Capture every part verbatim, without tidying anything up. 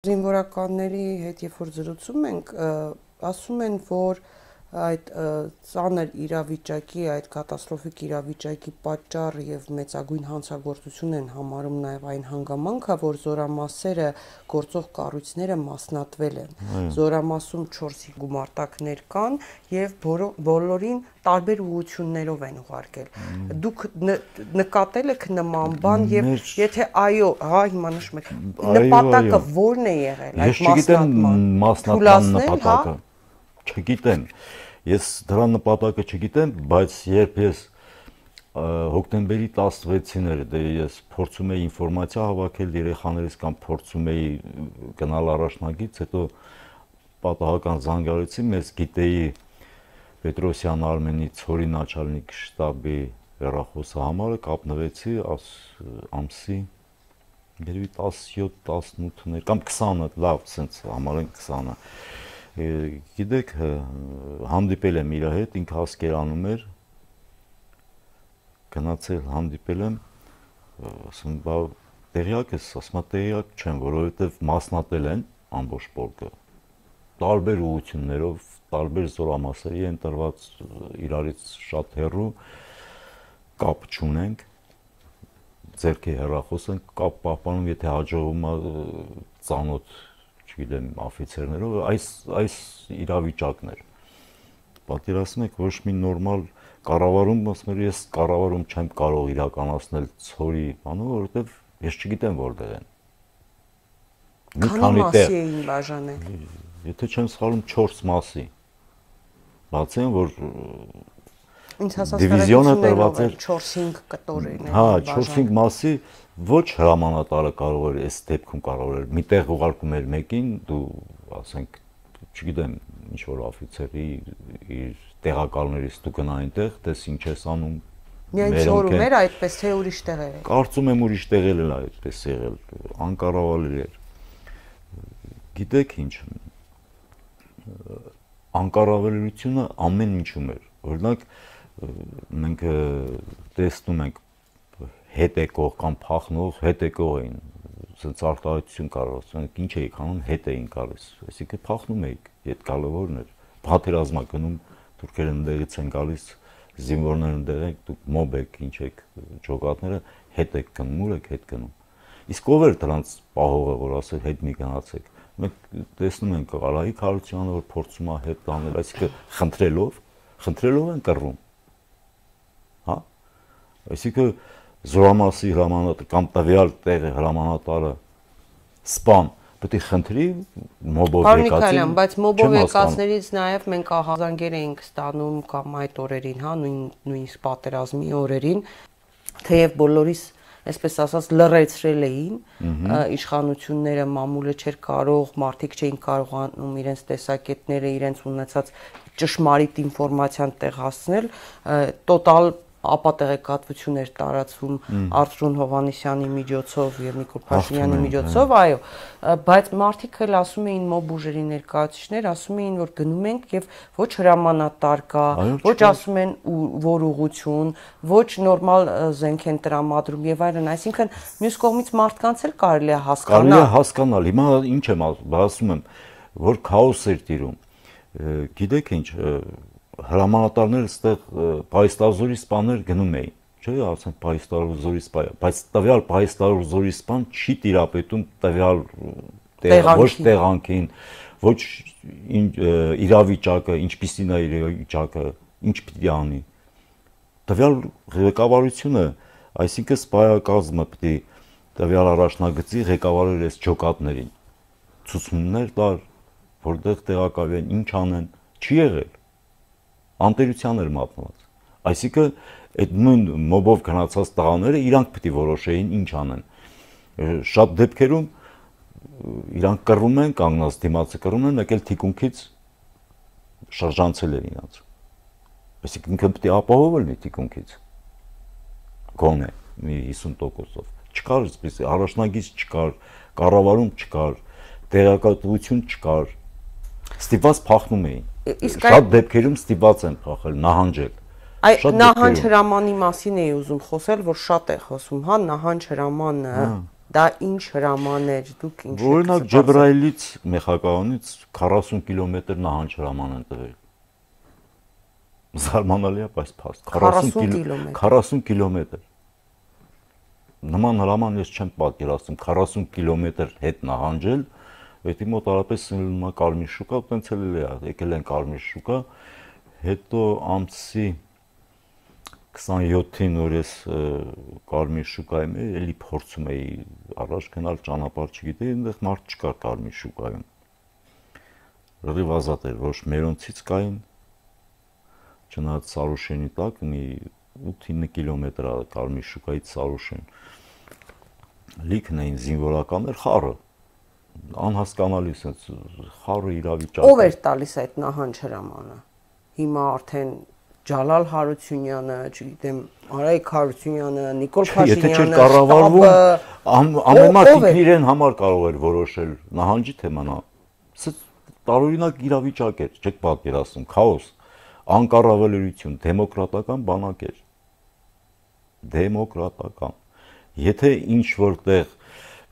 Զինվորականների հետ երբ որ զրուցում ենք, ասում են, որ այդ ծանր իրավիճակի, այդ կատաստրոֆիկ իրավիճակի պատճառ եւ մեծագույն հանցագործություն են համարում նաեւ այն հանգամանքը, որ զորամասերը գործող կառույցները մասնատվել են։ Զորամասում չորս գումարտակներ կան եւ բոլորին տարբեր ուղղություններով են ուղարկել։ Դուք նկատել եք նման բան եւ եթե այո, հա հիմա նշում եք, նպատակը ո՞րն է եղել այդ մասնատման։ Մասնատման նպատակը չգիտեմ։ Ես դրա նպատակը չգիտեմ, բայց երբ ես հոկտեմբերի տասնվեցին էր, դե ես փորձում էի ինֆորմացիա հավաքել երեխաներից կամ փորձում էի գնալ առաջնագից, հետո պատահական զանգարեցի, մեզ գիտեի Պետրոսյան Արմենի ցորի начальник շտաբի հեռախոսը համարը կապնվեցի ամսի երևի տասնյոթ տասնութ կամ քսանը, լավ, սենց համարեն քսանը։ Գիտեք, հանդիպել եմ իր հետ, ինքը Ասկերանում էր, գնացել հանդիպել եմ, ասում բա տեղյակ ես, ասում տեղյակ չեմ, որովհետև մասնատել են ամբողջ պորկը, տարբեր ուղղություններով, տարբեր զորամասերի են տրված իրարից շատ հեռու, կապ չունենք, ձեռքի հեռախոս են կապ պահպանում, եթե հաջողվում է ծանոթ, չգիտեմ, աֆիցերներով, այս իրավիճակն էր։ Պատկերացնում եք, ոչ մի նորմալ կառավարում, ասում եմ, ես կառավարում չեմ կարող իրականացնել ցորի բանը, որովհետև ես չգիտեմ որտեղ են։ Քանի մասի էին բաժանել։ Եթե չեմ սխալվում չորս մասի։ Բացի այն, որ դիվիզիոնը տրված էր չորս-հինգ կտորին են։ Հա, չորս-հինգ մասի ոչ հրամանատարը կարող էր այս դեպքում կարող էր միտեղ ուղարկում էր մեկին, դու ասենք, չգիտեմ, ինչ որ աֆիցերի իր տեղակալներից դու գնա այնտեղ, տես ինչ ես անում։ Միայն ցորում էր այդպես թե ուրիշ տեղեր էր։ Կարծում եմ ուրիշ տեղեր էլ այդպես եղել, անկառավարելի էր։ Գիտեք ինչ, անկառավարելիությունը ամեն ինչում էր։ Օրինակ մենք տեսնում ենք հետ եկող կամ փախնող հետ եկող էին, ասենց արտահայտություն կարող ասենք, ինչ էիք անում, հետ էին գալիս, այսինքն փախնում էիք, հետ գալը որն էր, պատերազմա գնում, թուրքերը ընդեղից են գալիս, զինվորները ընդեղ եք, դուք մոբ եք, ինչ եք, ջոկատները հետ եք գնում, ուր եք հետ գնում։ Իսկ ով էր դրանց պահողը, որ ասել հետ մի գնացեք։ Մենք տեսնում ենք Արայիկ Հարությունյանը, որ փորձում է հետ տանել, այսինքն խնդրելով, խնդրելով են կռվում։ Հա? Այսինքն զորամասի հրամանատար կամ տվյալ տեղի հրամանատարը սպան պետք է խնդրի մոբով եկածին։ Պարոն Միքայելյան, բայց մոբով եկածներից նաև մենք ահազանգեր էինք ստանում կամ այդ օրերին, հա, նույնիսկ պատերազմի օրերին, թեև բոլորիս այսպես ասած լռեցրել էին, իշխանությունները մամուլը չէր կարող, մարդիկ չէին կարողանում իրենց տեսակետները, իրենց ունեցած ճշմարիտ ինֆորմացիան տեղ հասցնել, տոտալ ապատեղեկատվություն էր տարածվում Արծրուն Հովհաննիսյանի միջոցով եւ Նիկոլ Փաշինյանի միջոցով, այո, բայց մարդիկ էլ ասում էին մոբ ուժերի ներկայացուցիչներ, ասում էին, որ գնում ենք եւ ոչ հրամանատար կա, ոչ ասում են որ ուղղություն, ոչ նորմալ զենք են տրամադրում եւ այլն, այսինքն մյուս կողմից մարդկանց էլ կարելի է հասկանալ։ Կարելի է հասկանալ, հիմա ինչ եմ ասում եմ, որ քաոս էր տիրում։ Գիտեք ինչ, հրամանատարները այստեղ Պայստազորի սպաներ գնում էին, չէ՞, ասենք Պայստազորի սպա, բայց տվյալ Պայստազորի սպան չի տիրապետում տվյալ ոչ տեղանքին, ոչ իրավիճակը, ինչպիսին է իրավիճակը, ինչ պիտի անի։ Տվյալ ղեկավարությունը, այսինքն սպայակազմը պիտի տվյալ առաջնագծի ղեկավարել այս ջոկատներին, ցուցումներ տար, որտեղ տեղակայվեն, ինչ անեն, չի եղել։ Անտերության էր մատնված։ Այսինքն այդ նույն մոբով գնացած տղաները իրանք պիտի որոշեին ինչ անեն։ Շատ դեպքերում իրանք կռվում են, կանգնած դիմացը կռվում են, մեկ էլ թիկունքից շրջանցել են իրանց։ Այսինքն ինքը պիտի ապահովել լինի թիկունքից։ Գոնե մի հիսուն տոկոսով։ Չկար այսպես առաջնագիծ չկար, կառավարում չկար, տեղեկատվություն չկար։ Ստիպված փախնում էին։ Շատ դեպքերում ստիպված են փախել, նահանջել։ Նահանջ հրամանի մասին էի ուզում խոսել, որ շատ է խոսում, հա, նահանջ հրամանը Դա ինչ հրամաներ, դուք ինչ եք։ Օրինակ Ջեբրայիլից Մեխակայանից քառասուն կիլոմետր նահանջ հրաման են տվել։ Զարմանալի է, բայց փաստ քառասուն կիլոմետր։ Նման հրաման ես չեմ պատկերացնում, քառասուն կիլոմետր հետ նահանջել, դա մոտարապես սնվում է Կարմիր շուկա, տենց էլ է, եկել են Կարմիր շուկա, հետո ամսի քսանյոթին որ ես Կարմիր շուկայում էի, էլի փորձում էի առաջ գնալ, ճանապարհ չգիտեի, այնտեղ մարդ չկար Կարմիր շուկայում։ Լրիվ ազատ էր, ոչ մերոնցից կային, չնայած Սարուշենի տակ մի ութ-ինը կիլոմետր է Կարմիր շուկայից Սարուշեն։ Լիքն էին զինվորականներ, խառը, անհասկանալի sense խառը իրավիճակ։ Ով էր տալիս այդ նահանջ հրամանը։ Հիմա արդեն Ջալալ Հարությունյանը, չգիտեմ, Արայիկ Հարությունյանը, Նիկոլ Փաշինյանը, կառավարվում, ամեն մարդը իրեն համար կարող էր որոշել նահանջի թեման։ Սա տարօրինակ իրավիճակ էր, չեք պատկերացնում, քաոս, անկառավարելիություն, դեմոկրատական բանակ էր։ Դեմոկրատական։ Եթե ինչ որտեղ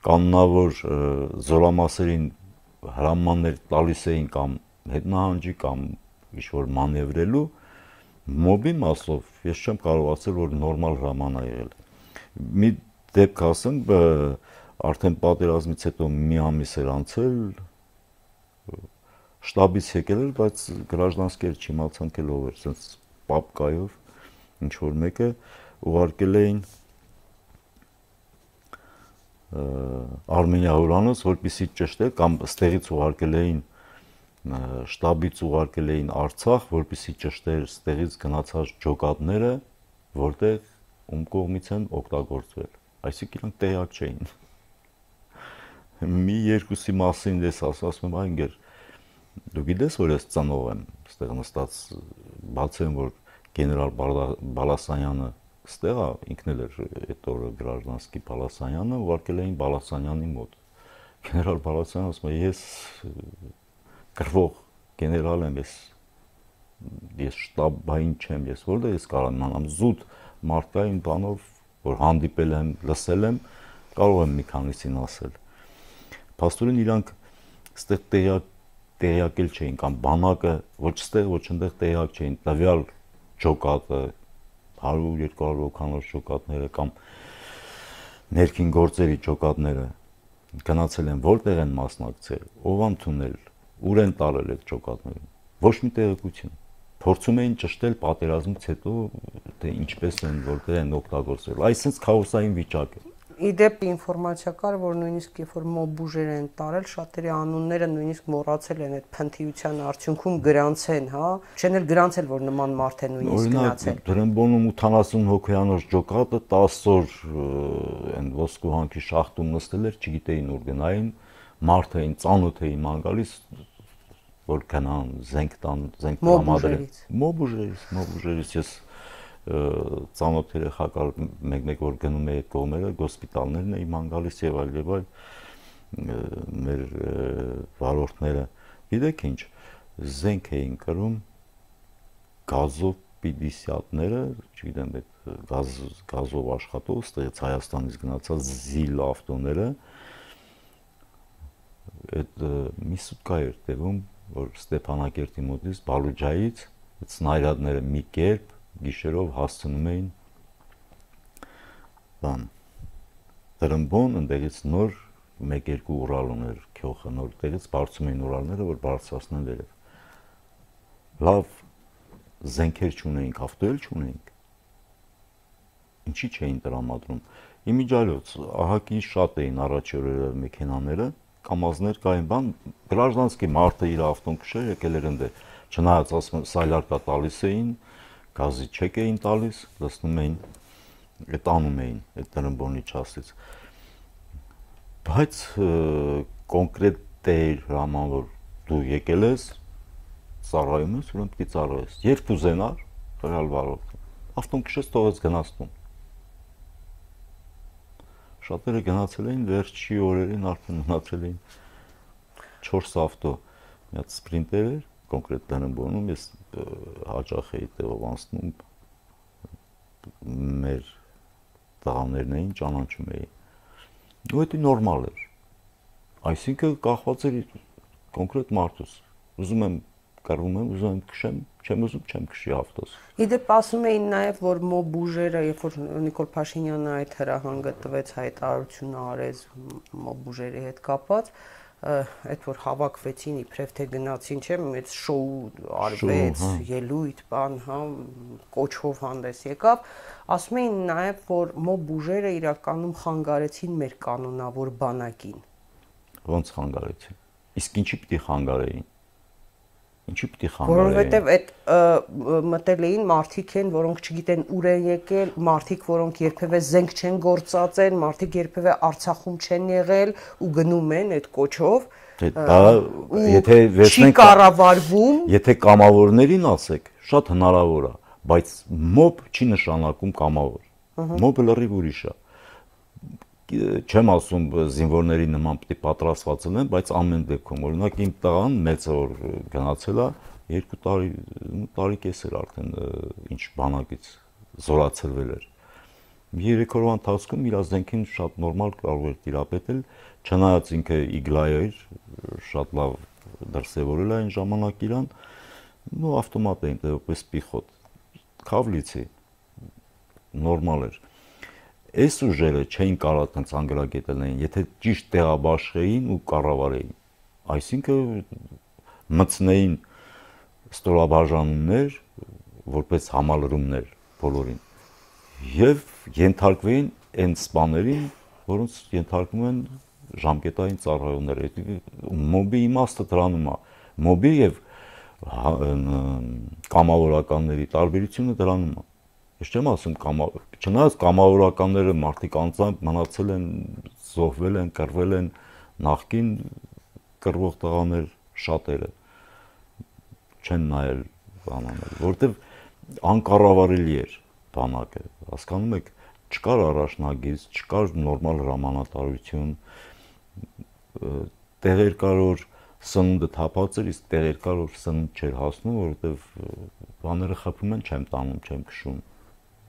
կանոնավոր զորամասերին հրամաններ տալիս էին կամ հետնահանջի կամ ինչ-որ մանևրելու, մոբի մասով ես չեմ կարող ասել, որ նորմալ հրաման է եղել։ Մի դեպք ասեմ, արդեն պատերազմից հետո մի ամիս էր անցել, շտաբից եկել էր, բայց գրաժդանսկեր չիմացանք էլ ով էր, sense պապկայով ինչ-որ մեկը ուղարկել էին Արմենիա հյուրանոց, որպեսզի ճշտել կամ ստեղից ուղարկել էին շտաբից ուղարկել էին Արցախ, որպեսզի ճշտեր ստեղից գնացած ջոկատները, որտեղ ում կողմից են օգտագործվել։ Այսինքն իրանք տեղյակ չէին։ Մի երկուսի մասին ես ասում եմ, այնգեր դու գիտես, որ ես ծնող եմ, ստեղ նստած բացեմ, որ գեներալ Բալասանյանը ստեղ է, ինքն էլ էր այդ օրը Գրաժդանսկի Բալասանյանը, ուղարկել էին Բալասանյանի մոտ։ Գեներալ Բալասանյանը ասում է, ես կռվող գեներալ եմ, ես ես շտաբային չեմ, ես որտեղ ես կարող եմ իմանամ զուտ մարդկային բանով, որ հանդիպել եմ, լսել եմ, կարող եմ մի քանիսին ասել։ Փաստորեն իրանք ստեղ տեղյակ տեղյակել չէին կամ բանակը ոչ ստեղ ոչ այնտեղ տեղյակ չէին, տվյալ ջոկատը հարյուր երկու հարյուր հոգանոց ջոկատները կամ ներքին գործերի ջոկատները գնացել են, որտեղ են մասնակցել, ով ընդունել, ուր են տարել այդ ջոկատները, ոչ մի տեղեկություն։ Փորձում էին ճշտել պատերազմից հետո, թե ինչպես են, որտեղ են օգտագործել։ Այսինքն քաոսային վիճակ է։ Իդեպ ինֆորմացիա կար, որ նույնիսկ երբ որ մոբ ուժեր են տարել, շատերի անունները նույնիսկ մոռացել են այդ փնթիության արդյունքում գրանցեն, հա, չեն էլ գրանցել, որ նման մարդ է նույնիսկ գնացել։ Օրինակ Դրամբոնում ութանասուն հոգեանոց ջոկատը տասը օր այն ոսկու հանքի շախտում նստել էր, չգիտեին ուր գնային, մարդ էին ծանոթ էին ման գալիս, որ գնան զենք տան, զենք տրամադրեն։ Մոբ ուժերից, մոբ ուժերից ես ծանոթ երեխա կար մեկ-մեկ որ գնում է այդ կողմերը, հոսպիտալներն էին ման գալիս եւ այլ եւ այլ մեր վարորդները, գիտեք ինչ, զենք էին կրում գազով պիդիսյատները, չգիտեմ, այդ գազ գազով աշխատող, ստեղից Հայաստանից գնացած զիլ ավտոները, այդ մի սուտկա էր տևում, որ Ստեփանակերտի մոտից Բալուջայից այդ սնայրադները մի կերպ գիշերով հասցնում էին բան Տրմբոն, ընդեղից նոր մեկ-երկու Ուրալ ուներ քյոխը, նոր տեղից բարձում էին Ուրալները, որ բարձրացնեն վերև։ Լավ զենքեր չունեինք, ավտո էլ չունեինք։ Ինչի չէին տրամադրում։ Իմիջիայլոց ահագին շատ էին առաջի օրերը մեքենաները, կամազներ կային, բան Գրաժդանսկի մարդը իր ավտոն քշեր, եկել էր ընդ, չնայած ասում սայլարկա տալիս էին, գազի չեկ էին տալիս, լցնում էին, այդ անում էին, այդ Տրմբոնի չասից։ Բայց կոնկրետ դեր հրաման, որ դու եկել ես, ծառայում ես, ուրեմն պիտի ծառայես։ Երբ ուզենար, ռեալ վարորդը, ավտոն քշեց, թողեց գնացնում։ Շատերը գնացել էին վերջի օրերին, արդեն մնացել էին չորս ավտո, մի հատ սպրինտեր էր, կոնկրետ Տրմբոնում, ես հաճախ էի տեղով անցնում, մեր տղաներն էին, ճանաչում էի, ու դա նորմալ էր։ Այսինքն կախված էր կոնկրետ մարդուց։ Ուզում եմ կռվում եմ, ուզում եմ քշեմ, չեմ ուզում, չեմ քշի ավտոս։ Իդեպ ասում էին նաև, որ մոբ ուժերը, երբ որ Նիկոլ Փաշինյանը այդ հրահանգը տվեց, հայտարարությունը արեց մոբ ուժերի հետ կապված, այդ որ հավաքվեցին իբրև թե գնացին, չէ՞, մեծ շոու արվեց, ելույթ, բան, հա, կոչով հանդես եկավ, ասում էին նաև, որ մոբ ուժերը իրականում խանգարեցին մեր կանոնավոր բանակին։ Ոնց խանգարեցին։ Իսկ ինչի պիտի խանգարեին։ Ինչի պիտի խանգարեին։ Որովհետև այդ մտել էին մարդիկ են, որոնք չգիտեն ուր են եկել, մարդիկ, որոնք երբևէ զենք չեն գործածել, մարդիկ երբևէ Արցախում չեն եղել ու գնում են այդ կոչով։ Դա եթե վերցնենք չի կառավարվում, եթե կամավորներին ասեք, շատ հնարավոր է, բայց մոբ չի նշանակում կամավոր։ Մոբը լրիվ ուրիշ է։ Չեմ ասում զինվորների նման պիտի պատրաստված լինեն, բայց ամեն դեպքում օրինակ իմ տղան մեծ որ գնացել է երկու տարի տարի կես էր արդեն ինչ բանակից զորացրվել էր։ Երեք օրվա ընթացքում իր զենքին շատ նորմալ կարող էր տիրապետել, չնայած ինքը իգլայ էր, շատ լավ դրսևորել է այն ժամանակ իրան, ու ավտոմատ էին դեպս պիխոտ, քավլիցի նորմալ էր։ Այս ուժերը չէին կարող տենց անգրագետելներին, եթե ճիշտ տեղաբաշխեին ու կառավարեին։ Այսինքն մտցնեին ստորաբաժանումներ, որպես համալրումներ բոլորին։ Եվ ենթարկվեին այն սպաներին, որոնց ենթարկվում են ժամկետային ծառայողներ։ Մոբի իմաստը դրանում է։ Մոբի եւ կամավորականների տարբերությունը դրանում է։ Ես չեմ ասում կամավոր, չնայած կամավորականները մարդիկ անձամբ մնացել են, զոհվել են, կռվել են, նախկին կռվող տղաներ շատերը չեն նայել բանանել, որտեվ անկառավարելի էր բանակը, հասկանում եք, չկար առաջնագիծ, չկար նորմալ հրամանատարություն, տեղեր կար որ սնունդը թափած էր, իսկ տեղեր կար որ սնունդ չէր հասնում, որովհետև բաները խփում են, չեմ տանում, չեմ քշում։